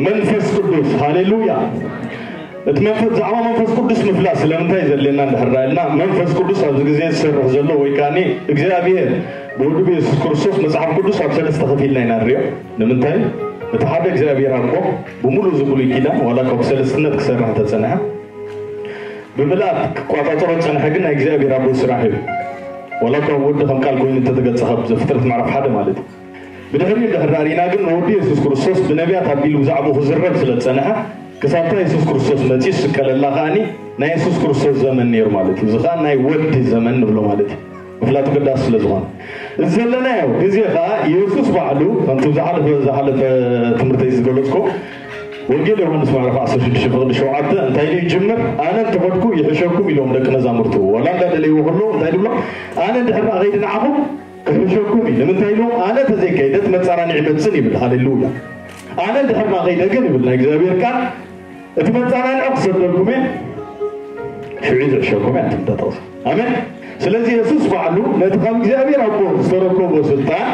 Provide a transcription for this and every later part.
መንፈስ ቅዱስ። ሃሌሉያ። እቲ መንፈስ ብዛዕባ መንፈስ ቅዱስ ምፍላጥ ስለምንታይ ዘድልየና እንድሕር ዳኢልና፣ መንፈስ ቅዱስ ኣብዚ ግዜ ዝሰርሕ ዘሎ ወይ ከኣ እግዚኣብሔር ብወዱ ብየሱስ ክርስቶስ፣ መጽሓፍ ቅዱስ ኣብ ሰለስተ ከፊልና ኢና ንሪኦ። ንምንታይ? እቲ ሓደ እግዚኣብሔር ኣቦ ብምሉእ እዚ ብሉይ ኪዳን ዋላ ካብ ሰለስትነት ክሰርሕ እንተጸንሐ፣ ብምልኣት ክቋጻጸሮ ዝጸንሐ ግን ናይ እግዚኣብሔር ኣቦ ስራሕ እዩ። ዋላ ካብ ወዲ ከም ቃል ኮይኑ እንተተገጸ፣ ካብ ዘፍጥረት ምዕራፍ ሓደ ማለት እዩ። ብድሕሪኡ እንድሕር ዳኢና ግን ንወዱ የሱስ ክርስቶስ ብነቢያት ኣቢሉ ብዛዕባኡ ክዝረብ ስለ ዝጸንሐ፣ ክሳብታ የሱስ ክርስቶስ መጺኡ ዝስቀለላ ከኣኒ ናይ የሱስ ክርስቶስ ዘመን ነይሩ ማለት እዩ። እዚ ከኣ ናይ ወዲ ዘመን ንብሎ ማለት እዩ። ምፍላጡ ኣገዳሲ ስለ ዝኾነ፣ እዚ ዘለናዮ ግዜ ከኣ የሱስ ባዕሉ ከምቲ ዝሓለፈ ዝሓለፈ ትምህርተይ ዝገለጽኮ፣ ወንጌል ዮሃንስ ምዕራፍ ዓሰርተ ሽዱሽተ ፍቕዲ ሸውዓተ እንታይ ኢሉ ይጅምር? ኣነ እንተኸድኩ ይሕሸኩም ኢሎም ደቂ መዛሙርቱ። ዋላ እንዳደለይዎ ከለዉ እንታይ ድብሎ? ኣነ እንድሕር ከይደ ንዓኹም ክሕሸኩም እዩ። ንምንታይ ኢሎም? ኣነ ተዘይከይደ እቲ መጻራኒ ይመጽን ይብል። ሃሌሉያ። ኣነ እንድሕር ከይደ ግን ይብል ናይ እግዚኣብሔር ቃል፣ እቲ መጻራኒ ክሰደልኩም እየ፣ ሽዑ ዝሕሸኩም እየ። ኣንትም ተጠቕሱ። ኣሜን። ስለዚ የሱስ ባዕሉ ነቲ ካብ እግዚኣብሔር ኣቦ ዝተረከቦ ስልጣን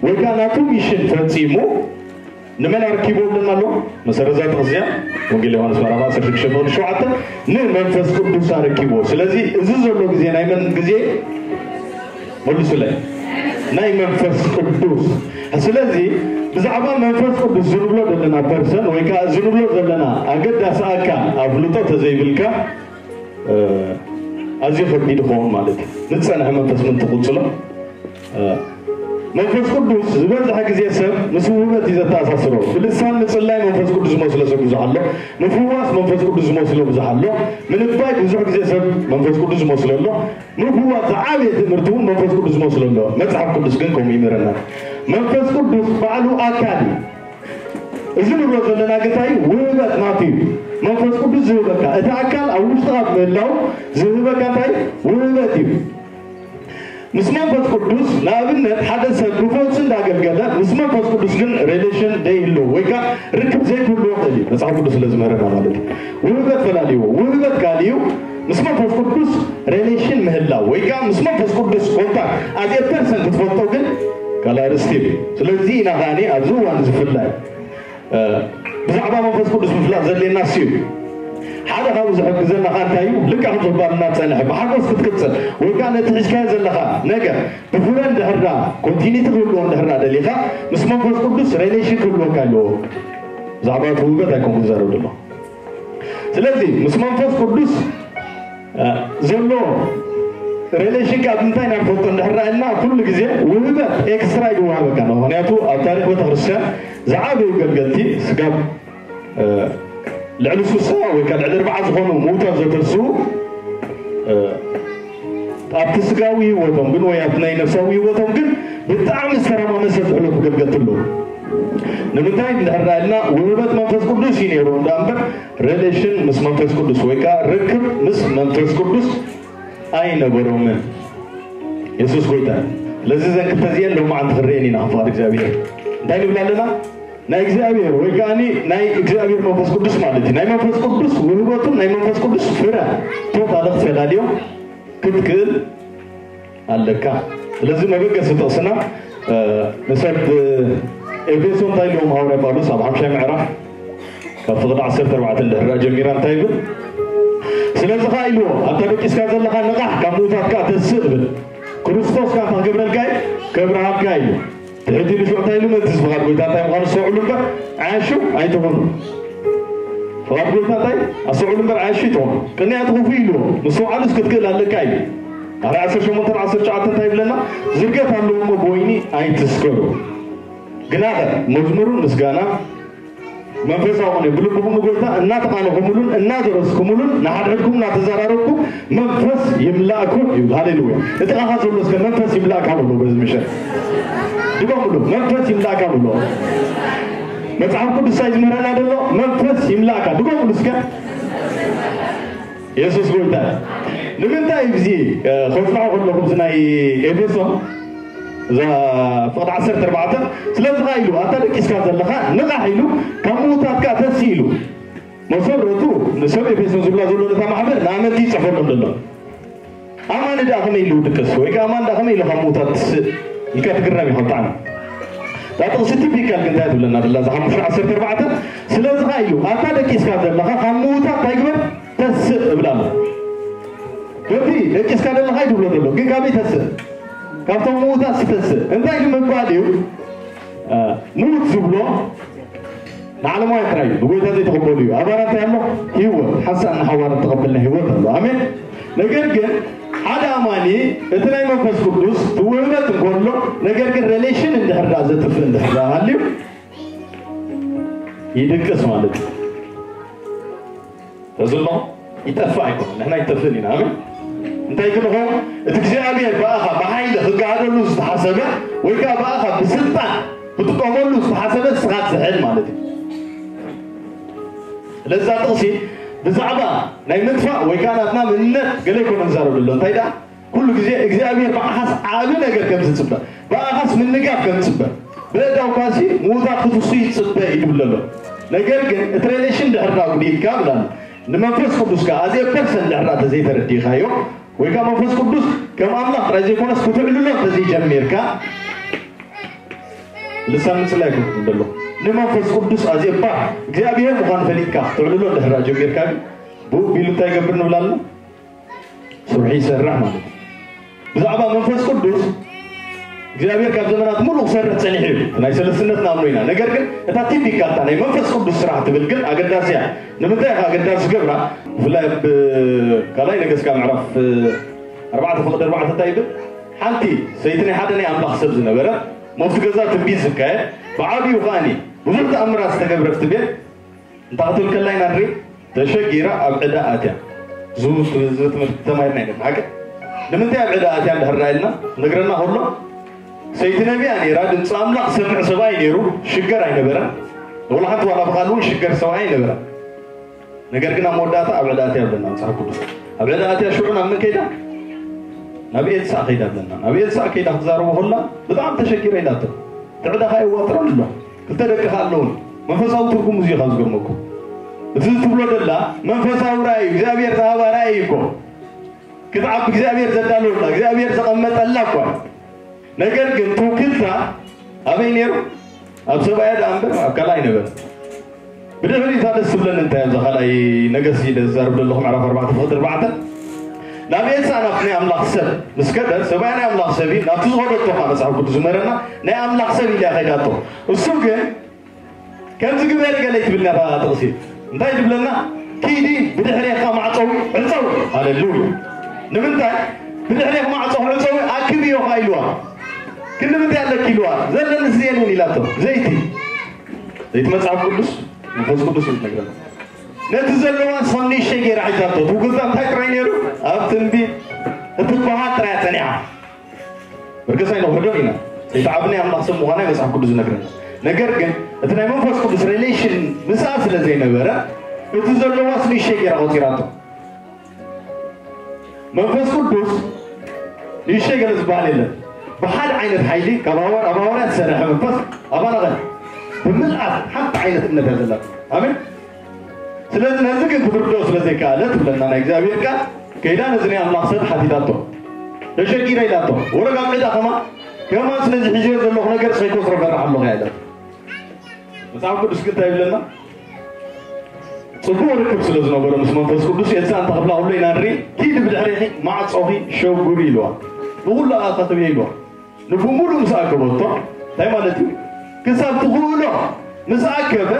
ወይ ከዓ ናቱ ሚሽን ፈጺሙ ንመን ኣረኪቦ ኣለና ኣሎ? መሰረት እዛ ጥቕሲ እዚኣ ወንጌል ዮሃንስ ምዕራፍ ዓሰርተ ሽዱሽተ ፍቕዲ ሸውዓተ፣ ንመንፈስ ቅዱስ ኣረኪቦ። ስለዚ እዚ ዘሎ ግዜ ናይ መን ግዜ? መልሱለይ። ናይ መንፈስ ቅዱስ። ስለዚ ብዛዕባ መንፈስ ቅዱስ ዝንብሎ ዘለና ፐርሰን ወይ ከዓ ዝንብሎ ዘለና ኣገዳሲ ኣካል ኣፍልጦ ተዘይብልካ፣ እ፣ ኣዝዩ ከቢድ ይኸውን ማለት እዩ። ንዝጸንሐ መንፈስ ምን ትቕጽሎ? እ፣ መንፈስ ቅዱስ ዝበዝሐ ግዜ ሰብ ምስ ውህበት እዩ ዘተኣሳስሮ። ብልሳን ምጽላይ መንፈስ ቅዱስ ዝመስሎ ሰብ ብዙሕ ኣሎ። ምፍዋስ መንፈስ ቅዱስ ዝመስሎ ብዙሕ ኣሎ። ምንባይ ብዙሕ ግዜ ሰብ መንፈስ ቅዱስ ዝመስሎ ኣሎ። ምፍዋስ ዝዓበየ ትምህርቲ እውን መንፈስ ቅዱስ ዝመስሎ ኣሎ። መጽሓፍ ቅዱስ ግን ከምኡ ይምህረና። መንፈስ ቅዱስ ባዕሉ ኣካል እዩ። እዚ ንብሎ ዘለና ግን እንታይ እዩ? ውህበት ናቱ እዩ። መንፈስ ቅዱስ ዝህበካ፣ እቲ ኣካል ኣብ ውሽጥኻ ምህላው ዝህበካ እንታይ? ውህበት እዩ። ምስ መንፈስ ቅዱስ ንኣብነት ሓደ ሰብ ብፈውሲ እንዳገልገለ ምስ መንፈስ ቅዱስ ግን ሬሌሽን ዘይህልዎ ወይ ከዓ ርክብ ዘይክህልዎ ይኽእል እዩ። መጽሓፍ ቅዱስ ስለ ዝምህረና ማለት እዩ። ውህበት ፈላልይዎ። ውህበት ካልእ እዩ። ምስ መንፈስ ቅዱስ ሬሌሽን ምህላው ወይ ከዓ ምስ መንፈስ ቅዱስ ኮንታክት ኣዝ ኤ ፐርሰን ክትፈልጦ ግን ካልእ ኣርእስቲ እዩ። ስለዚ ኢና ከኣኒ ኣብዚ እዋን ዝፍላይ እ፣ ብዛዕባ መንፈስ ቅዱስ ምፍላጥ ዘድልየና እሱ እዩ። ሓደ ካብኡ ዝሕግዘና ኸኣ እንታይ እዩ? ልክዕ ከም ዘባልና ትጸንሐ፣ ብሓጎስ ክትቅጽል ወይ ከኣ ነቲ ሒዝካዮ ዘለኻ ነገር ብፍረ እንድሕር ደኣ ኮንቲኒቲ ክህልዎ እንድሕር ደኣ ደሊኻ፣ ምስ መንፈስ ቅዱስ ሬሌሽን ክህልወካ ኣለዎ። ብዛዕባ እቲ ውህበት ኣይኮንኩን ዝዛረብ ዘለኹ። ስለዚ ምስ መንፈስ ቅዱስ እ፣ ዘሎ ሬሌሽን ካብ ምንታይ ኢና ንፈልጦ እንድሕር ኢልና፣ ኩሉ ግዜ ውህበት ኤክስትራ እዩ ዝወሃበካ ነው። ምክንያቱ ኣብ ታሪክ ቤተክርስትያን ዝዓበዩ ገልገልቲ ስጋብ፣ እ፣ ልዕሊ ሱሳ ወይ ከዓ ልዕሊ ኣርባዓ ዝኾኑ ምውታት ዘተስኡ፣ እ፣ ኣብቲ ስጋዊ ህይወቶም ግን ወይ ኣብቲ ናይ ነፍሳዊ ህይወቶም ግን ብጣዕሚ ዝተረማመሰ ዝሕለፉ ገልገልቲ ኣለዉ። ንምንታይ እንድሕር ኢልና ውህበት መንፈስ ቅዱስ እዩ ነይሩ እንዳ እምበር ሬሌሽን ምስ መንፈስ ቅዱስ ወይ ከዓ ርክብ ምስ መንፈስ ቅዱስ ኣይነበሮምን። የሱስ ጎይታ። ስለዚ እዘን ክልተ እዚአን ሎማዓንቲ ክረአየን ኢና ፍቓድ እግዚኣብሔር። እንታይ ንብል ኣለና? ናይ እግዚኣብሔር ወይ ከዓ ናይ እግዚኣብሔር መንፈስ ቅዱስ ማለት እዩ። ናይ መንፈስ ቅዱስ ውህበቱን ናይ መንፈስ ቅዱስ ፍረ ቶታሊ ክትፈላልዮም ክትክእል ኣለካ። ስለዚ መበገሲ ጥቕስና፣ እ፣ ንሰብ ኤፌሶ እንታይ ኢልዎም ሃዋርያ ጳውሎስ ኣብ ሓምሻይ ምዕራፍ ካብ ፍቕዲ ዓሰርተ ኣርባዕተ እንድሕር ደኣ ጀሚራ እንታይ ይብል? ስለዚ ኸዓ ኢልዎ፣ ኣታ ደቂስካ ዘለኻ ንቓሕ፣ ካብ ምዉታት ከኣ ተስእ ይብል። ክርስቶስ ከኣ እንታይ ክገብረልካ እዩ? ከብርሃልካ እዩ። ትሕት ኢሉ ሽዑ እንታይ ኢሉ? ምእንቲ እዚ ፍቓድ ጎይታ እንታይ ምዃኑ ኣስተውዕሉ እምበር፣ ዓያሹ ኣይትኹኑ። ፍቓድ ጎይታ እንታይ? ኣስተውዕሉ እምበር ዓያሹ ኣይትኹኑ። ቅንያት ክፉእ ኢልዎ፣ ምስትውዓልስ ክትክእል ኣለካ እዩ። ኣርባዕተ ዓሰርተ ሸሞንተ ዓሰርተ ትሽዓተ እንታይ ይብለና? ዝርገት ኣለዎ እሞ ብወይኒ ኣይትስከሩ። ግናኸ መዝሙርን ምስጋና መንፈሳዊ ኾነ ብልብኹም ንጎይታ እናተቓነኹምሉን እናዘረዝኩምሉን ንሓድሕድኩም እናተዘራረብኩም መንፈስ ይምላእኩም ይብል። ሃሌሉያ። እቲ ኻኻ ዘሎ እስከ መንፈስ ይምላእካ በሎ። በዚ ምሸት ድገምሉ፣ መንፈስ ይምላእካ በሎ። መጽሓፍ ቅዱስ እንታይ ዝምህረና ዘሎ? መንፈስ ይምላእካ። ድገምሉ እስከ። የሱስ ጎይታ። ንምንታይ እዚ፣ እ፣ ከጽንዖ ከለኹ እዚ ናይ ኤፌሶን እዛ ፍቕዲ ዓሰርተ ኣርባዕተ፣ ስለዚ ኸዓ ኢሉ፣ ኣታ ደቂስካ ዘለኻ ንቓሕ ኢሉ፣ ካብ ምዉታት ከኣ ተሲ ኢሉ። መሰረቱ ንሰብ ኤፌሶን ዝብላ ዘሎ ነታ ማሕበር ንኣመንቲ ይጽሕፈሎም ዘሎ። ኣማኒ ደኣ ከመይ ኢሉ ድቅስ? ወይ ከኣ ኣማኒ ደኣ ከመይ ኢሉ ካብ ምዉታት ትስእ? ኢልካ ትግረም ኢኻ ብጣዕሚ። እዛ ጥቕሲ ቲፒካል ግን እንታይ ትብለና ደላ? እዛ ሓሙሽተ ዓሰርተ ኣርባዕተ፣ ስለዚ ኸዓ ኢሉ፣ ኣታ ደቂስካ ዘለኻ ካብ ምዉታት እንታይ ግበር? ተስእ እብላ ኣሎ። በቲ ደቂስካ ዘለኻ እዩ ትብሎ ዘሎ፣ ግን ካበይ ተስእ? ካብቶም ምዉታት ዝተስእ። እንታይ ንምባል እዩ? እ፣ ምዉት ዝብሎ ንዓለማውያን ጥራይ እዩ፣ ንጎይታ ዘይተቐበሉ እዩ። ኣባና እንታይ ኣሎ? ህይወት፣ ሓንሳእ እናሓዋረ እተቐበልና ህይወት ኣሎ። ኣሜን። ነገር ግን ሓደ ኣማኒ እቲ ናይ መንፈስ ቅዱስ ትውህበት እንከሎ፣ ነገር ግን ሬሌሽን እንድሕር ደኣ ዘጥፍእ እንድሕር ደኣ ሃልዩ፣ ይድቅስ ማለት እዩ። ተዝሎ ይጠፍእ ኣይኮነን፣ ንሕና ይጠፍእን ኢና። ኣሜን። እንታይ ግን ኾን፣ እቲ እግዚኣብሔር ብኣኻ ብሓይሊ ክጋሃደሉ ዝተሓሰበ፣ ወይ ከዓ ብኣኻ ብስልጣን ክጥቀመሉ ዝተሓሰበ፣ ንስኻ ትዝሕል ማለት እዩ። ስለዛ ጥቕሲ ብዛዕባ ናይ ምጥፋእ ወይ ከዓ ናትና ምንነት ገለ ኣይኮነን ዝዛረብ ዘሎ። እንታይ ደኣ? ኩሉ ግዜ እግዚኣብሔር ብኣኻስ ዓቢ ነገር ከም ዝጽበ፣ ብኣኻስ ምንጋፍ ከም ዝጽበ፣ ብእዳው ኳሲ ምዉታት ክትሱ ይጽበ እዩ ዝብል ዘሎ። ነገር ግን እቲ ሬሌሽን ድሕር ዳ ጉዲልካ ብላና፣ ንመንፈስ ቅዱስ ከኣ ኣዜ ፐርሰን ድሕር ዳ ተዘይተረዲእካዮ፣ ወይ ከኣ መንፈስ ቅዱስ ከም ኣምላኽ ጥራይ ዘይኮነስ ክትዕልሎ እንተዘይጀሚርካ፣ ልሳን ምጽላይ ይኮን ዘሎ። ንመንፈስ ቅዱስ ኣዜ እባ እግዚኣብሔር ምዃኑ ፈሊጥካ ክትዕልሎ ድሕር ዳ ጀሚርካ ግን፣ ብኡ ቢሉ እንታይ ይገብር ንብል ኣለና? ስርሑ ይሰርሕ ማለት እዩ። ብዛዕባ መንፈስ ቅዱስ እግዚኣብሔር ካብ ዘመናት ሙሉእ ክሰርሕ ጸኒሑ እዩ። ናይ ሰለስትነት ንኣምኖ ኢና። ነገር ግን እታ ቲፒካል እታ ናይ መንፈስ ቅዱስ ስራሕ ትብል ግን ኣገዳሲ እያ። ንምንታይ ኢኻ ኣገዳሲ ዝገብራ? ብፍላይ ኣብ ካልኣይ ነገስት ካብ ምዕራፍ ኣርባዕተ ፍቕዲ ኣርባዕተ እንታይ ይብል? ሓንቲ ሰይቲ ናይ ሓደ ናይ ኣምላኽ ሰብ ዝነበረ፣ ሞፍቲ ገዛ ትንቢት ዝካየድ፣ ብዓቢኡ ከኣኒ ብዙሕ ተኣምራት ዝተገብረ ትብል። እንታይ ክትብል ከላ ኢና ንርኢ? ተሸጊራ ኣብ ዕዳ ኣትያ። እዚ ትምህርቲ ተማሂርና ኢና ሓቂ። ንምንታይ ኣብ ዕዳ ኣትያ እንድሕር ኢልና ነግረና ከሎ፣ ሰይቲ ነቢያ ነይራ፣ ድምፂ ኣምላኽ ሰምዕ ሰብኣይ ነይሩ፣ ሽገር ኣይነበረን። ወላ ሓንቲ ዋላ ብቓል እውን ሽገር ሰብኣይ ኣይነበረን። ነገር ግን ኣብ መወዳእታ ኣብ ዕዳ ኣትያ ኣለና መጽሓፍ ቅዱስ። ኣብ ዕዳ ኣትያ ሽዑ ናብ መን ከይዳ? ናብ ኤልሳዕ ከይዳ ኣለና። ናብ ኤልሳዕ ከይዳ ክትዛረቦ ከላ ብጣዕሚ ተሸጊረ ኢላቶ። እቲ ዕዳ ኸዓ የዋጥረን ኣሎ። ክልተ ደቂ ኸዓ ኣለውን። መንፈሳዊ ትርጉም እዚ እዩ ካብ ዝገርመኩም። እቲ ትብሎ ደላ መንፈሳዊ ራእይ እዩ። እግዚኣብሔር ዝሃባ ራእይ እዩ እኮ። ክትዓቢ እግዚኣብሔር ዘዳለወላ፣ እግዚኣብሔር ዘቐመጠላ እኳ። ነገር ግን ትውክልታ ኣበይ ነይሩ? ኣብ ሰብኣያ ደኣ እምበር ኣብ ካልኣይ ነበረ። ብድሕሪ እታ ደስ ትብለኒ እንታይ እዛ ካልኣይ ነገስት እዩ ዝዛረብ ዘለኹ ምዕራፍ ኣርባዕተ ፍቕዲ ኣርባዕተ። ናብ ኤልሳዕ ናብቲ ናይ ኣምላኽ ሰብ ምስ ከደ፣ ሰብኣያ ናይ ኣምላኽ ሰብ እዩ፣ ናብቲ ዝኸደቶ ከዓ መጽሓፍ ቅዱስ ዝምህረና ናይ ኣምላኽ ሰብ ኢላ ከይዳቶ። እሱ ግን ከምዚ ግበሪ ገለ ይትብልና እታ ጥቕሲ። እንታይ ትብለና? ኪዲ ብድሕሬኻ ማዕጾዊ ዕጸዊ። ሃሌሉያ። ንምንታይ? ብድሕሬኻ ማዕጾ ዕጸዊ ኣክብዮ ኸዓ ኢልዋ። ክንዲ ምንታይ ኣለኪ ኢልዋ። ዘለኒ ዝየንን ኢላቶ። ዘይቲ። ዘይቲ መጽሓፍ ቅዱስ፣ መንፈስ ቅዱስ እዩ ዝነግረና። ነቲ ዘለዋ ንሳ ንእሽተይ ገይራ ሒዛቶ። ትውግዛ እንታይ ጥራይ ነይሩ? ኣብ ትንቢት እትበሃል ጥራይ ጸኒዓ። ብርግጽ ኣይንውሕዶን ኢና። ዘይተዓብነ ኣምላኽ ሰብ ምዃና መጽሓፍ ቅዱስ ዝነግረና። ነገር ግን እቲ ናይ መንፈስ ቅዱስ ሬሌሽን ምስኣ ስለ ዘይነበረ፣ እቲ ዘለዋስ ንእሽተይ ገይራ ቆጺራቶ። መንፈስ ቅዱስ ንእሽተይ ገለ ዝበሃል የለን። ብሓደ ዓይነት ሓይሊ ካብ ሃዋር-፣ ኣብ ሃዋርያት ዝሰርሐ መንፈስ ኣባና ኸ ብምልኣት ሓንቲ ዓይነት እምነት እያ ዘላቶ። ኣሜን። ስለዚ ነዚ ግን ክትርድኦ ስለ ዘይከኣለ ትብለና ናይ እግዚኣብሔር ቃል፣ ከይዳ ነዚ ናይ ኣምላኽ ሰብ ሓቲታቶ። ተሸጊረ ኢላቶ። ወረጋ ዕዳ ከማን፣ ከማን ስለዚ ሒዘዮ ዘለኹ ነገር ሰይኮ ዝረፈራሕ ኣለኹ እያ ኢላቶ። መጽሓፍ ቅዱስ ግን እንታይ ይብለና? ጽቡቕ ርክብ ስለ ዝነበሮ ምስ መንፈስ ቅዱስ፣ ኤልሳዕ እንታይ ክብላ ከሎ ኢና ንርኢ? ኪዲ ብድሕሬኺ ማዕጾኺ ሸጉሪ ኢልዋ። ንኹሉ ኣኻኽብዮ ኢልዋ። ንብሙሉእ ምስ ኣከበቶ፣ እንታይ ማለት እዩ? ክሳብ ትኽእሎ ምስ ኣከበ፣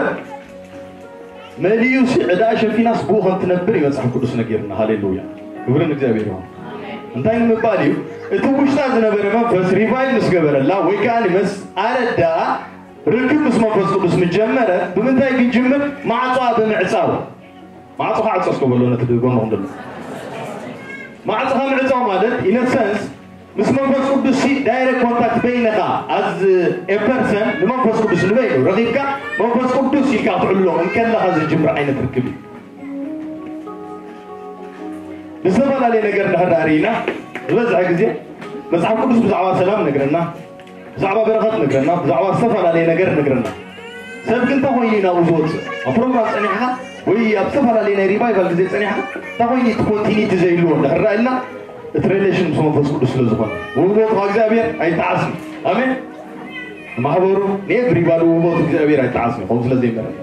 መሊኡሲ ዕዳኣ ሸፊናስ ብኡ ከም ትነብር እዩ መጽሓፍ ቅዱስ ነጊርና። ሃሌሉያ። ክብሪ ንእግዚኣብሔር ይኹን። እንታይ ንምባል እዩ? እቲ ውሽጣ ዝነበረ መንፈስ ሪቫይቭ ምስ ገበረላ፣ ወይ ከኣ ምስ ኣረዳ፣ ርክብ ምስ መንፈስ ቅዱስ ምስ ጀመረ፣ ብምንታይ ግን ጅምር? ማዕጾኣ ብምዕጻው። ማዕጾኻ ዕጾ እስከ በሎ ነቲ ጎንኹም ዘሎ። ማዕጾኻ ምዕጻው ማለት፣ in a sense፣ ምስ መንፈስ ቅዱስ ሲ ዳይሬክት ኮንታክት በይንኻ፣ as a person፣ ንመንፈስ ቅዱስ ንበይኑ ረኺብካ፣ መንፈስ ቅዱስ ኢልካ ክትዕልሎ እንከለኻ ዝጅምር ዓይነት ርክብ እዩ። ብዝተፈላለየ ነገር እንድሕር ደኣ ርኢና፣ ዝበዝሐ ግዜ መጽሓፍ ቅዱስ ብዛዕባ ሰላም ነግረና፣ ብዛዕባ በረኸት ነግረና፣ ብዛዕባ ዝተፈላለየ ነገር ነግረና። ሰብ ግን እንታይ ኮይኑ እዩ ናብኡ ዝወጽእ? ኣብ ፕሮግራም ጸኒሕካ ወይ ኣብ ዝተፈላለየ ናይ ሪቫይቫል ግዜ ጸኒሕካ እንታይ ኮይኑ እቲ ኮንቲኒቲ ዘይህልዎ እንድሕር ደኣ ኢልና፣ እቲ ሬሌሽን ምስ መንፈስ ቅዱስ ስለ ዝኾነ፣ ውህቦት ካብ እግዚኣብሔር ኣይጠዓስን። ኣሜን። ማሕበሩ ንኤቭሪባዲ ውህቦት እግዚኣብሔር ኣይጠዓስን እዩ፣ ከምኡ ስለ ዘይመረጸ።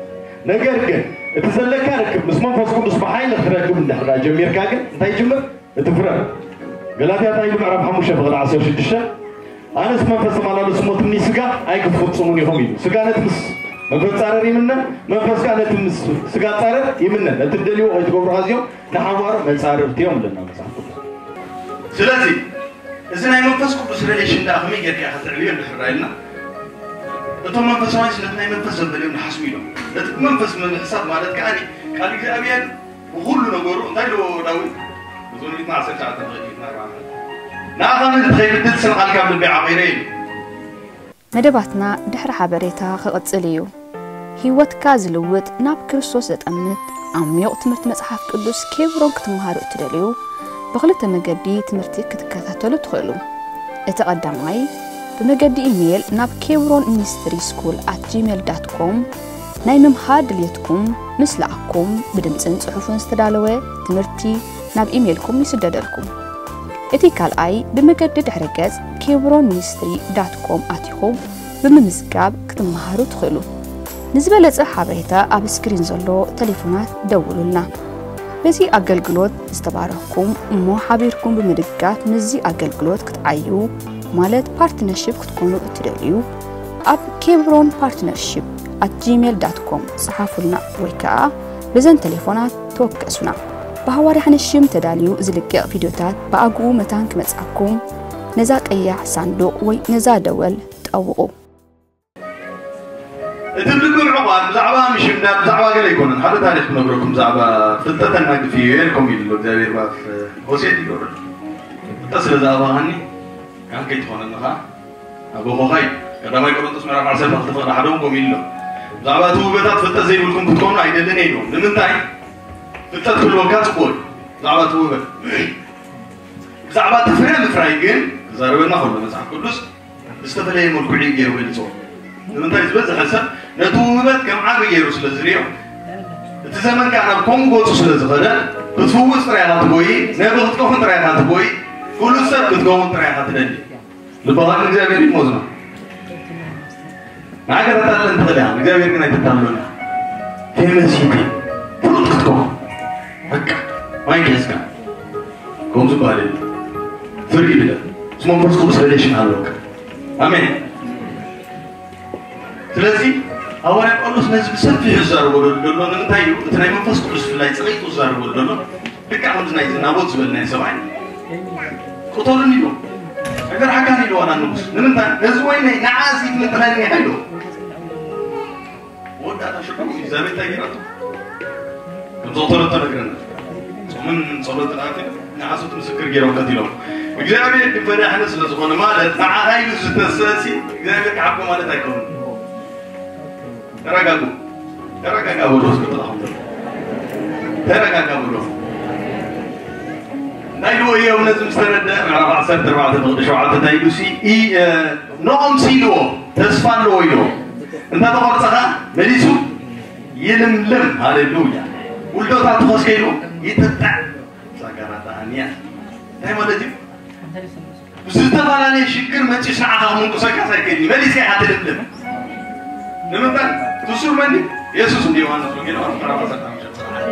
ነገር ግን እቲ ዘለካ ርክብ ምስ መንፈስ ቅዱስ ብሓይሊ ክትረክብ እንድሕር ደኣ ጀሚርካ ግን እንታይ ይጅምር? እቲ ፍረ። ገላትያ እንታይ ኢሉ? ምዕራፍ ሓሙሽተ ፍቕዲ ዓሰርተ ሽዱሽተ፣ ኣነስ መንፈስ ተመላለሱ እሞ ትምኒ ስጋ ኣይክትፍጽሙን ኢኹም ኢሉ። ስጋ ነቲ ምስ መንፈስ ጻረር ይምነን፣ መንፈስ ከኣ ነቲ ምስ ስጋ ጻረር ይምነን። ነቲ እትደልይዎ ከይትገብሩ ኣዝዮም ንሓዋሩ መጻርርቲ እዮም ኣለና መጽሓፍ ቅዱስ። ስለዚ እዚ ናይ መንፈስ ቅዱስ ሪሌሽን ደኣ ከመይ ጌርካ ኢኻ ተዕብዮ እንድሕር ኢልና፣ እቶም መንፈሳውያን ነቲ ናይ መንፈስ ዘንበልዮም ንሓስቡ ኢሎም። ነቲ ብመንፈስ ምሕሳብ ማለት ከኣ ቃል እግዚኣብሔር ብኹሉ ነገሩ እንታይ ኢልዎ ዳዊት? መዝሙር ሚእትን ዓሰርተ ትሽዓተ ንኣርባዕተ። ንኣኻ ምእንቲ ከይብድል ስለ ቃልካ ኣብ ልበይ ዓቒረ ኢሉ። መደባትና ድሕሪ ሓበሬታ ክቕጽል እዩ። ህይወትካ ዝልውጥ፣ ናብ ክርስቶስ ዘጠምት ዓሚቕ ትምህርቲ መጽሓፍ ቅዱስ ኬብሮን ክትመሃሩ እትደልዩ፣ ብኽልተ መገዲ ትምህርቲ ክትከታተሉ ትኽእሉ። እቲ ቀዳማይ፣ ብመገዲ ኢሜይል ናብ ኬብሮን ሚኒስትሪ ስኩል ኣት ጂሜል ዳት ኮም ናይ ምምሃር ድልየትኩም ምስ ለኣኽኩም፣ ብድምጽን ጽሑፍን ዝተዳለወ ትምህርቲ ናብ ኢሜይልኩም ይስደደልኩም። እቲ ካልኣይ፣ ብመገዲ ድሕረ ገጽ ኬብሮን ሚኒስትሪ ዳት ኮም ኣቲኹም ብምምዝጋብ ክትመሃሩ ትኽእሉ። ንዝበለጸ ሓበሬታ ኣብ ስክሪን ዘሎ ቴሌፎናት ደውሉልና። በዚ ኣገልግሎት ዝተባረኽኩም እሞ ሓቢርኩም ብምድጋፍ ምስዚ ኣገልግሎት ክትዓዩ ማለት ፓርትነርሺፕ ክትኮኑ እትደልዩ፣ ኣብ ኬብሮን ፓርትነርሺፕ ኣት ጂሜል ዳት ኮም ጸሓፉልና ወይ ከኣ በዘን ቴሌፎናት ተወከሱና። ብሃዋርያ ሓንሽም ተዳልዩ ዝልቀቕ ቪድዮታት ብኣግኡ መታን ክመጽኣኩም ነዛ ቀያሕ ሳንዱቕ ወይ ነዛ ደወል ጠውቑ። እቲ ልቢ ምዕቋር ብዛዕባ ምሽምዳድ፣ ብዛዕባ ገለ ኣይኮነን። ሓደ ታሪኽ ክነግረኩም፣ ብዛዕባ ፍልጠት ኣናግፍ እዩ፣ የልኩም ኢሉ እግዚኣብሔር ብኣፍ ሆሴዕ ይገብር። ፍልጠት ስለ ዝኣባኻኒ፣ ካህን ከይትኾነኒ ኸኣ ኣቦኾኻ እዩ። ቀዳማይ ቆሮንቶስ ምዕራፍ ዓሰርተ ክልተ ፍቕዲ ሓደ እውን ከምኡ ኢሉ ኣሎ። ብዛዕባ እቲ ውህበታት ፍልጠት ዘይብልኩም ክትኮኑ ኣይደልን እየ ኢሉ። ንምንታይ? ፍልጠት ክህልወካ ጽቡቕ እዩ። ብዛዕባ እቲ ውህበት። ብዛዕባ እቲ ፍረ ምፍራይ ግን ክዛረበና ከሎ መጽሓፍ ቅዱስ ብዝተፈለየ መልክዑ እዩ ገይሩ ገሊጽዎ። ንምንታይ? ዝበዝሐ ሰብ ነቲ ውህበት ከም ዓቢ ገይሩ ስለ ዝርእዮ፣ እቲ ዘመን ከኣ ናብ ከምኡ ገጹ ስለ ዝኸደ፣ ክትፍውስ ጥራይ ኢኻ ትጎይ፣ ነቢ ክትከውን ጥራይ ኢኻ ትጎይ፣ ፍሉጥ ሰብ ክትከውን ጥራይ ኢኻ ትደሊ። ልብኻ ንእግዚኣብሔር ይሞዝኖ። ንዓይ ከተታልለን ትኽእል ኢኻ፣ ንእግዚኣብሔር ግን ኣይተታልሎን ኢኻ። ፌመስ ሂቲ ፍሉጥ ክትከውን በቃ ማይክ ሒዝካ ከምኡ ዝበሃል የለን። ፍሪ ኢለ ምስ መንፈስ ቅዱስ ሪሌሽን ኣለካ። ኣሜን። ስለዚ ሃዋርያ ጳውሎስ ነዚ ብሰፊሑ ዝዛረበሉ ዘሎ ንምንታይ እዩ? እቲ ናይ መንፈስ ቅዱስ ብፍላይ ጸቒጡ ዝዛረበሉ ዘሎ ልክዕ ከምዚ ናይ ናቦት ዝበልናዮ ሰብኣይ ቅተሉኒ ኢሉ። ኣይፈርሓካን ኢሉ ዋላ ንጉስ። ንምንታይ? ነዚ ወይነይ ንዓ እዚ ትምንጥለኒ ኢኻ ኢሉ። መወዳእታ ሽዑ ኢዛቤል እንታይ ገይራቶ? ከም ዘቕተለቶ ነግረና። ጾምን ጸሎትን ኣትዩ ንሓሶት ምስክር ገይሮም ቀቲሎም። እግዚኣብሔር ግን ፈዳሕኒ ስለ ዝኾነ ማለት ንዓኻ ኢሉ ዝተሰእሲ እግዚኣብሔር ክሓብኮ ማለት ኣይኮነን። ተረጋጉ። ተረጋጋ በሎ እስኪ ጥላኹም። ተረጋጋ በሎ። እንታይ ኢልዎ እዮም ነዚ ምስ ተረድአ? ምዕራፍ ዓሰርተ ኣርባዕተ ፍቕዲ ሸውዓተ እንታይ ኢሉ ሲ-፣ ኢ-፣ እ፣ ንኦም ሲልዎ ተስፋ ኣለዎ ኢልዎ። እንተ ተቖርጸ ኸኣ መሊሱ ይልምልም። ሃሌሉያ። ውልዶታቱ ኸስከ ኢልዎ ይጥጥዕ። ዛጋራታ ኣንያ። እንታይ ማለት እዩ? ብዝተፈላለየ ሽግር መጺኡስ ንዓኻ ምንቁሰካስ ኣይክእልን እዩ። መሊስካ ኢኻ ትልምልም። ንምንታይ? ትሱር መን እዩ? የሱስ እንዲ ዮሃንስ ወንጌል ምዕራፍ ዓሰርተ ሓሙሽተ ቁጽሪ ሓደ።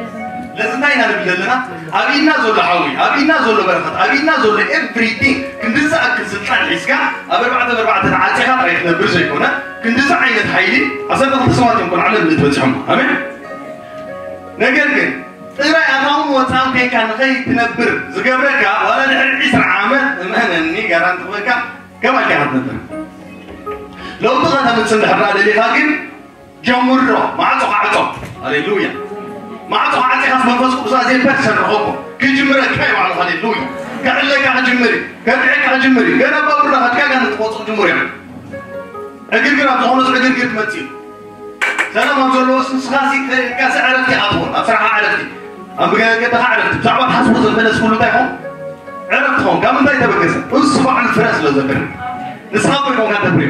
ለዚ እንታይ ኢና ንብል ዘለና? ኣብ ኢድና ዘሎ ሓዊ፣ ኣብ ኢድና ዘሎ በረኸት፣ ኣብ ኢድና ዘሎ ኤቭሪቲንግ ክንዲ ዝኣክል ስልጣን ሒዝካ ኣብ ኣርባዕተ ብኣርባዕተ ተዓጺኻ ጥራይ ክትነብር ዘይኮነ፣ ክንድዚ ዓይነት ሓይሊ ዓሰርተ ክልተ ሰባት እዮም ኮን ዓለም ልትበጽሖም። ኣሜን። ነገር ግን ጥራይ ኣታውን ወጻእን ኮይንካ ንኸይትነብር ዝገብረካ ዋላ ድሕሪ ዕስራ ዓመት እመነኒ ጋራንቲ ክበካ ከማልካ ኢኻ ትነብር። ለውጢ ከተምጽእ እንድሕር ደኣ ደሊኻ ግን ጀምሮ፣ ማዕጾ ካዕጾ። ሃሌሉያ። ማዕጾ ዓጺኻስ መንፈስ ቅዱስ ኣዘይ ፐርሰን ረኸቦ። ክጅምረካ እዩ ባዕሉ። ሃሌሉያ። ከዕለካ ክጅምር እዩ። ከብዕካ ክጅምር እዩ። ገና ባቡር ናኸድካ ጋር ንትቆጽር ጅምር እዩ። ዕግርግር ኣብ ዝኾነስ ዕግርግር ትመጽእ እዩ። ሰላም ኣብ ዘለዎስ ንስኻሲ ከ-፣ ከስ ዕረፍቲ ኢኻ ትኾን። ኣብ ስራሕኻ ዕረፍቲ። ኣብ ገ-፣ ገደኻ ዕረፍቲ። ብዛዕባ ትሓስቦ ዘለስ ኩሉ እንታይ ይኾን? ዕረፍቲ ኾን። ካብ ምንታይ ተበገሰ? እሱ ባዕሉ ፍረ ስለ ዘፍሪ። ንስኻ እኮ ይኮንካ ተፍሪ።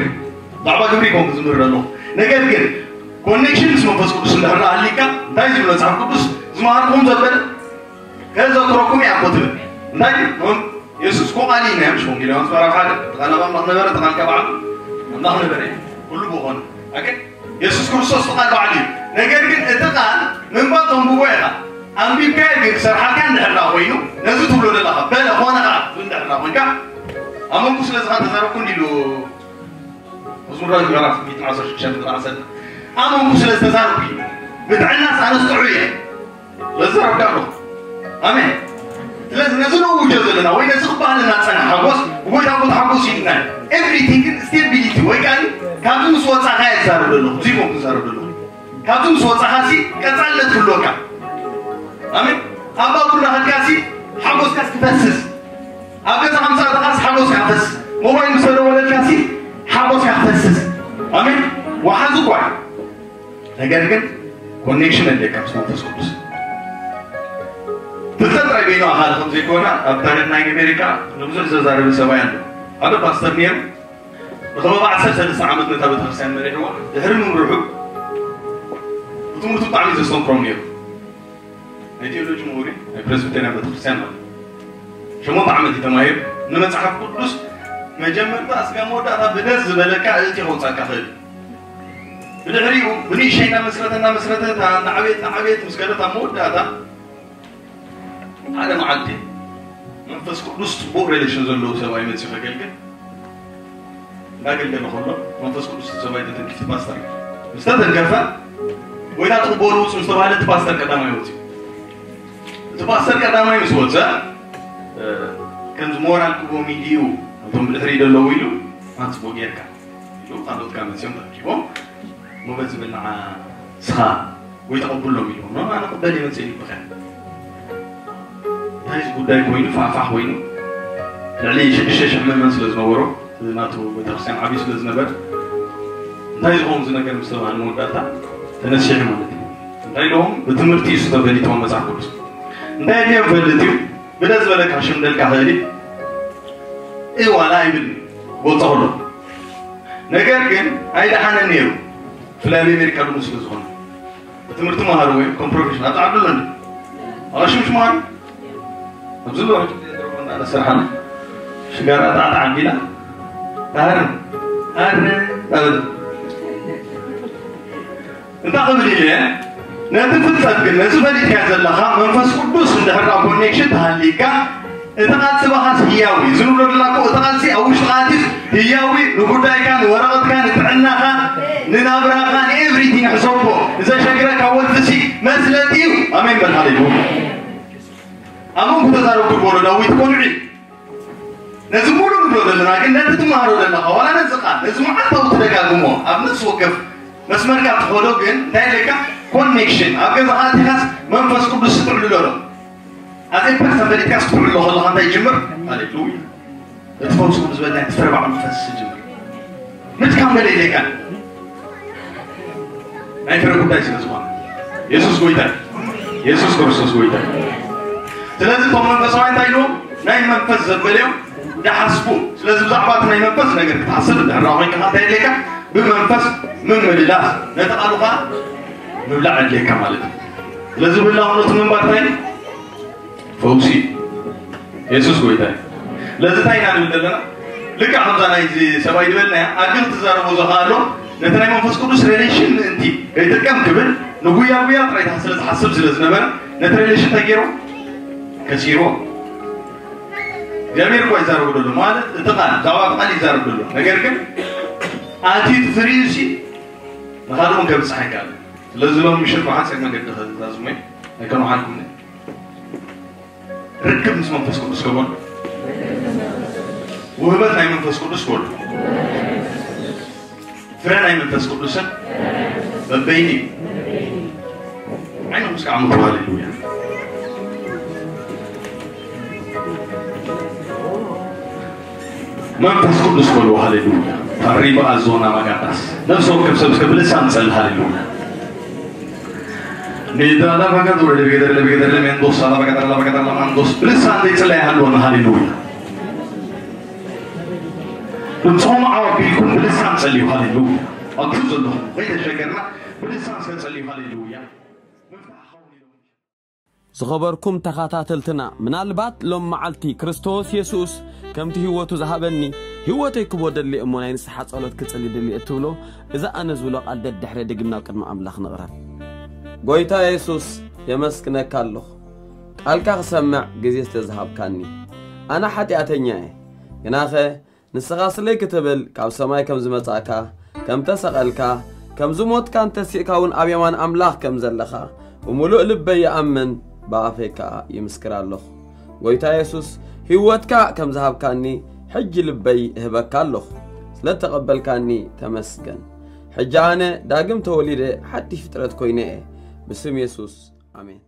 ብዛዕባ ግብሪ ይኮን ክዝምር ኣለኹ። ነገር ግን ኮኔክሽን ምስ መንፈስ ቅዱስ እንድሕር ሃሊካ እንታይ ዝብል መጽሓፍ ቅዱስ ዝመሃርኩም ዘበለ ከዘክረኩም እያ እኮ ትብል። እንታይ? እም፣ የሱስ እኮ ቃል እዩ፣ ናይ ምሽ ወንጌል ዮሃንስ ምዕራፍ ሓደ፣ እቲ ቃል ኣብ ኣምላኽ ነበረ፣ እቲ ቃል ከኣ በዓል ኣምላኽ ነበረ። ኩሉ ብኾነ ኣከ የሱስ ክርስቶስ እቲ ቃል ባዕሉ እዩ። ነገር ግን እቲ ቃል ምንባብ ተንብቦ ኢኻ፣ ኣንቢብካዮ ግን ክሰርሓልካ እንድሕር ደኣ ኮይኑ፣ ነዚ ትብሎ ዘለኻ በለ ኾነ ኸዓ ትብል እንድሕር ደኣ ኮይንካ፣ ኣመንኩ ስለዚ ኸዓ ተዛረብኩ እንዲሉ መዝሙር ዳዊት ምዕራፍ ሚእትን ዓሰርተ ሽዱሽተ ቁጽሪ ዓሰርተ፣ ኣመንኩ ስለ ዝተዛረብኩ እዩ፣ ብጥዕናስ ኣነስ ጥዑይ እየ። ለዘረብካ ኣለኹ። ኣሜን። ስለዚ ነዚ ነውጆ ዘለና ወይ ነዚ ክበሃለና ዝጸንሐ ሓጎስ ብጎይታ እኮ ተሓጎሱ ኢልና። ኤቭሪቲንግ ግን ስቴቢሊቲ ወይ ከኣ ካብዚ ምስ ወጻኻ እየ ዝዛረብ ዘለኹ፣ እዚ ኮም ክዛረብ ዘለኹ። ካብዚ ምስ ወጻኻ ሲ ቀጻልነት ክህልወካ። ኣሜን። ኣብ ባቡር እናኸድካ ሲ ሓጎስካ ክፈስስ፣ ኣብ ገዛ ከምሳእተኻስ ሓጎስካ ክፈስስ፣ ሞባይል ምስ ተደወለልካ ሲ ሓጎስካ ክፈስስ። ኣሜን። ወሓዚ እኳ እዩ። ነገር ግን ኮኔክሽን ኣለካ ምስ መንፈስ ቅዱስ። ፍልጠት ጥራይ በይኑ ኣኻሊ ከም ዘይኮነ ኣብ ታሪኽ ናይ ኣሜሪካ ንብዙሕ ዘዛረበ ሰብኣይ ኣሎ። ሓደ ፓስተር ነይሩ። ንኸባቢ ዓሰርተ ሰለስተ ዓመት ነታ ቤተክርስትያን መሪሕዋ። ድሕሪ ምምርሑ ብትምህርቱ ብጣዕሚ ዘስተምክሮም ነይሩ። ናይ ቴዎሎጂ ምሁር እዩ፣ ናይ ፕሬስቢቴርያን ቤተክርስትያን ማለት እዩ። ሸሞንተ ዓመት እዩ ተማሂሩ። ንመጽሓፍ ቅዱስ መጀመርታ እስከ መወዳእታ ብደስ ዝበለካ እእቲ ከውጻካ ኽእል። ብድሕሪኡ ብንእሽተይ እናመስረተ እናመስረተ እታ እናዓበየት እናዓበየት ምስ ከደት ኣብ መወዳእታ ሓደ መዓልቲ መንፈስ ቅዱስ ጽቡቕ ሬሌሽን ዘለዎ ሰብኣይ መጺኡ ከገልግል እንዳገልገለ ከሎ መንፈስ ቅዱስ እቲ ሰብኣይ ተተንኪፉ ፓስተር ምስ ተተንከፈ ጎይታ ትቕበሉ ውጹ ምስ ተባህለ እቲ ፓስተር ቀዳማይ ወጺኡ። እቲ ፓስተር ቀዳማይ ምስ ወጸ እ፣ ከምዚ ሞራል ክቦም ኢሉ እዩ እቶም ብድሕሪ ዘለዉ ኢሉ ኣንጽቦ ጌርካ ኢሉ ካልኦት ካብ መጺኦም ተረኪቦም እሞ በዚ ብልዓ ስኻ ወይ ተቐብሎም ኢልዎም ኖ ኣነ ቅበል እየ መጽእ ኢሉ ብኸ እንታይ እዚ ጉዳይ ኮይኑ ፋሕፋሕ ኮይኑ ልዕሊ ሽዱሽተ ሽሕ ምእመን ስለ ዝነበሮ እዚ ናቱ ቤተክርስትያን ዓብዩ ስለ ዝነበር እንታይ ዝኸውን እዚ ነገር ምስ ተባህለ መወዳእታ ተነሲሑ ማለት እዩ እንታይ ኢሎም ብትምህርቲ እዩ ዝተፈሊጥዎም መጽሓፍ ቅዱስ እንታይ ኣድልዮም ፈልጥ እዩ ብለ ዝበለካ ሽምደልካ ኽእል እዩ ዋላ ኣይብል ወፀ ከሎ ነገር ግን ኣይደሓነን ነይሩ ብፍላይ ኣብ ኣሜሪካ ድሙ ስለ ዝኾነ ትምህርቲ መሃሩ ወይ ከም ፕሮፌሽን ኣብቲ ዓዲ ኣሎ እንዲ ኣሽምሽ መሃሩ ኣብዚ ሎ ስርሓና ሽጋራ ጣዕጣ ዓቢላ ታሃር ኣረ ኣበል እንታይ ክብል ኢለ ነቲ ፍልጠት ግን ነዚ ፈሊጥካ ዘለኻ መንፈስ ቅዱስ እንድሕር ኮኔክሽን ተሃሊካ እቲ ቃል ስባኻስ ህያዊ እዩ ዝንብሎ ደላኮ እቲ ቃልሲ ኣብ ውሽጥኻ ኣትዩስ ህያዊ ንጉዳይካ ንወረቐትካ ንጥዕናኻ ንናብራኻ ንኤቭሪቲንግ ሕሰቦ ንዘሸግረካ ወልፍሲ መስለጥ እዩ ኣሜን በል ሃሌሉያ ኣመንኩ ተዛረብኩ ዝበሎ ዳዊት ቆልዑ ነዚ ሙሉ ንብሎ ዘለና ግን ነቲ ትመሃሮ ዘለኻ ዋላ ነዚ ቃል ነዚ መዓልታዊ ትደጋግሞ ኣብ ነፍሲ ወከፍ መስመርካ ትኸዶ ግን እንታይ ኣለካ ኮኔክሽን ኣብ ገዛኻ ኣቲኻስ መንፈስ ቅዱስ ትዕልሎ ኣሎ ኣዘይ ፐርሰን ፈሊጥካስ ትዕልሎ ከለኻ እንታይ ይጅምር ሃሌሉያ እቲ ፈውስ ቅዱስ በልና ተፈረባዕ መንፈስ ይጅምር ምትካም ገለ ኢለካ ናይ ፍረ ጉዳይ ስለ ዝኾነ የሱስ ጎይታ የሱስ ክርስቶስ ጎይታ ስለዚ እቶም መንፈሳዊ እንታይ ኢልዎም ናይ መንፈስ ዘበልዮም ዝሓስቡ ስለዚ ብዛዕባ እቲ ናይ መንፈስ ነገር ክትሓስብ እንድሕራ ኮይንካ እንታይ የድልየካ ብመንፈስ ምምልላስ ነቲ ቃሉ ከዓ ምብላዕ የድልየካ ማለት እዩ ስለዚ ብላውነቱ ምንባር እንታይ ፈውሲ የሱስ ጎይታ ለዚ እንታይ ኢና ንብል ዘለና ልክዕ ከምዛ ናይዚ ሰብኣይ ዝበልናያ ኣግል ትዛረቦ ዘኸኣሎ ነቲ ናይ መንፈስ ቅዱስ ሬሌሽን ምእንቲ ከይጥቀም ክብል ንጉያ ጉያ ጥራይ ስለ ዝሓስብ ስለ ዝነበረ ነቲ ሬሌሽን እንታይ ገይሮ ከሲሮ እግዚኣብሔር እኳ ይዛረቡ ደሎ ማለት እቲ ቃል ብዛዕባ እቲ ቃል ይዛረብ ደሎ ነገር ግን ኣቲ ትፍርዩ ሲ ንኻልኦም ከብፅሕ ኣይከኣል ስለዚ ሎም ምሽት ብሓፂር መገዲ ከዛዝሞ ኣይከመሓልኩም ርክብ ምስ መንፈስ ቅዱስ ከበሉ ውህበት ናይ መንፈስ ቅዱስ ከበሉ ፍረ ናይ መንፈስ ቅዱስን በበይኒ እዩ ዓይኖም እስከ ዓመቱ ሃሌሉያ መንፈስ ቅዱስ በሉ ሃሌሉያ ታሪባ ኣዞና ማጋታስ ነፍሲ ወከፍ ሰብ እስከ ብልሳን ጸል ሃሌሉያ ሜዳ ላባጋት ወረደ በገደር ለበገደር ለሜንዶስ ላባጋት ላባጋት ላማንዶስ ብልሳን ዘይጽላይ ሃልወና ሃሌሉያ ድምፅኹም ዓው ኣቢልኩም ብልሳን ጸልዩ ሃሌሉያ ኣብቲ ዘለኹም ከይተሸገርና ብልሳን እስከ ጸልዩ ሃሌሉያ ዝኸበርኩም ተኸታተልትና ምናልባት ሎም መዓልቲ ክርስቶስ የሱስ ከምቲ ህይወቱ ዝሃበኒ ህይወተይ ክቦ ደሊ እሞ ናይ ንስሓ ጸሎት ክጽሊ ድሊ እትብሎ፣ እዛ ኣነ ዝብሎ ቃል ደድሕረ ድግም ናብ ቅድሚ ኣምላኽ ንቕረብ። ጎይታ የሱስ፣ የመስግነካ ኣለኹ። ቃልካ ክሰምዕ ግዜ ስለ ዝሃብካኒ። ኣነ ሓጢኣተኛ እየ። ግናኸ ንስኻ ስለይ ክትብል ካብ ሰማይ ከም ዝመጻእካ፣ ከም ተሰቐልካ፣ ከም ዝሞትካን ተሲእካ እውን ኣብ የማን ኣምላኽ ከም ዘለኻ ብምሉእ ልበይ ይኣምን፣ ብኣፈይ ከኣ ይምስክር ኣለኹ። ጎይታ የሱስ፣ ህይወትካ ከም ዝሃብካኒ ሕጂ ልበይ እህበካ ኣለኹ። ስለ እተቐበልካኒ ተመስገን። ሕጂ ኣነ ዳግም ተወሊደ ሓድሽ ፍጥረት ኮይነ እየ። ብስም የሱስ፣ ኣሜን።